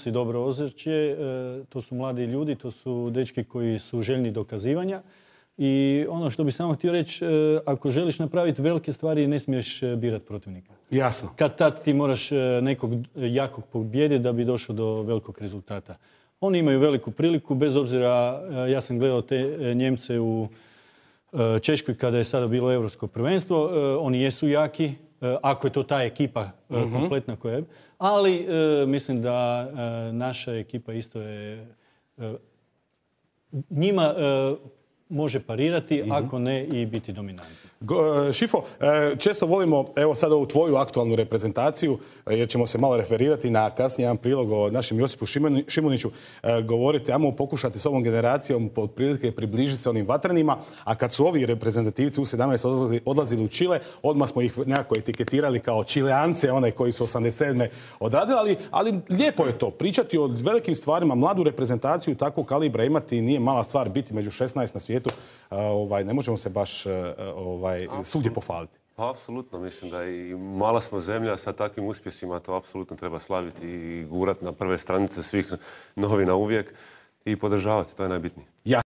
nosi dobro ozračje. To su mladi ljudi, to su dečki koji su željni dokazivanja. I ono što bih samo htio reći, ako želiš napraviti velike stvari, ne smiješ birati protivnika. Jasno. Kad tad ti moraš nekog jakog pobijediti da bi došao do velikog rezultata. Oni imaju veliku priliku, bez obzira, ja sam gledao te Njemce u Češkoj kada je sada bilo Europsko prvenstvo. Oni jesu jaki, ako je to ta ekipa kompletna koja je. Ali mislim da naša ekipa isto je njima može parirati, ako ne i biti dominantni. Šifo, često volimo, evo sad ovu tvoju aktualnu reprezentaciju, jer ćemo se malo referirati na kasnije jedan prilog o našem Josipu Šimuniću, govoriti, ajmo pokušati s ovom generacijom otprilike približiti se onim vatrenima, a kad su ovi reprezentativci U17 odlazili u Čile, odmah smo ih nekako etiketirali kao Čileance, one koji su 87. odradili, ali lijepo je to, pričati o velikim stvarima, mladu reprezentaciju takvog kalibra imati nije mala stvar, biti među 16 na svijetu, ne možemo se baš svugdje pohvaliti. Pa, apsolutno, mislim da i mala smo zemlja sa takvim uspjesima, to apsolutno treba slaviti i gurati na prve stranice svih novina uvijek i podržavati, to je najbitnije.